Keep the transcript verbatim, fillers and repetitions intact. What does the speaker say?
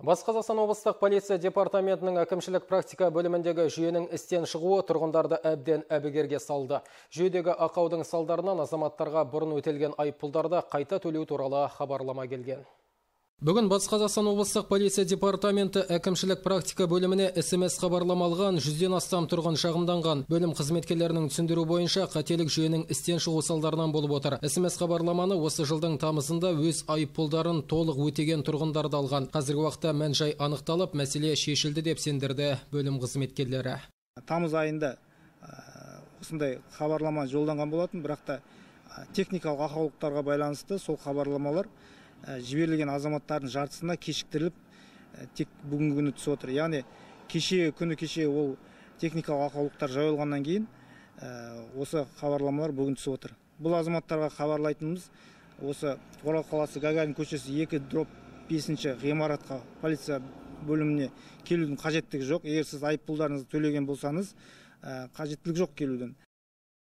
Батыс Қазақстан облыстық полиция департаментінің әкімшілік практика бөліміндегі жүйенің істен шығуы тұрғындарды әбден әбігерге салды. Жүйедегі ақаудың салдарынан азаматтарға бұрын өтелген айыппұлдарды қайта төлеу туралы хабарлама келген. Бүгін Батыс Қазақстан облыстық полиция департаменті әкімшілік практика бөліміне эс-эм-эс хабарлама алған жүзден астам тұрғын шағымданған. Бөлім қызметкерлерінің түсіндіру бойынша қателік жүйенің істен шығу салдарынан болып отыр. эс-эм-эс хабарламаны осы жылдың тамызында өз айыппұлдарын толық өтеген тұрғындарды алған. Қазіргі уақытта мән-жай анықталып, мәселе шешілді деп сендірді бөлім қызметкерлері. Тамыз айында осындай хабарлама жолданған болатын, бірақ та техникалық ақаулықтарға байланысты сол хабарламалар жіберілген азаматтардың жартысына кешіктіріліп тек бүгінгі күні түсіп отыр. Яғни кеше күні кеше ол техникалық ақаулықтар жойылғаннан кейін осы хабарламалар бүгін түсіп отыр. Бұл азаматтарға хабарлайтынымыз осы Орал қаласы Гагарин көшесі екі дробь бесінші ғимаратқа полиция бөліміне келудің қажеттігі жоқ. Егер сіз айыппұлдарыңызды төлеген болсаңыз, қажеттілік жоқ келуден.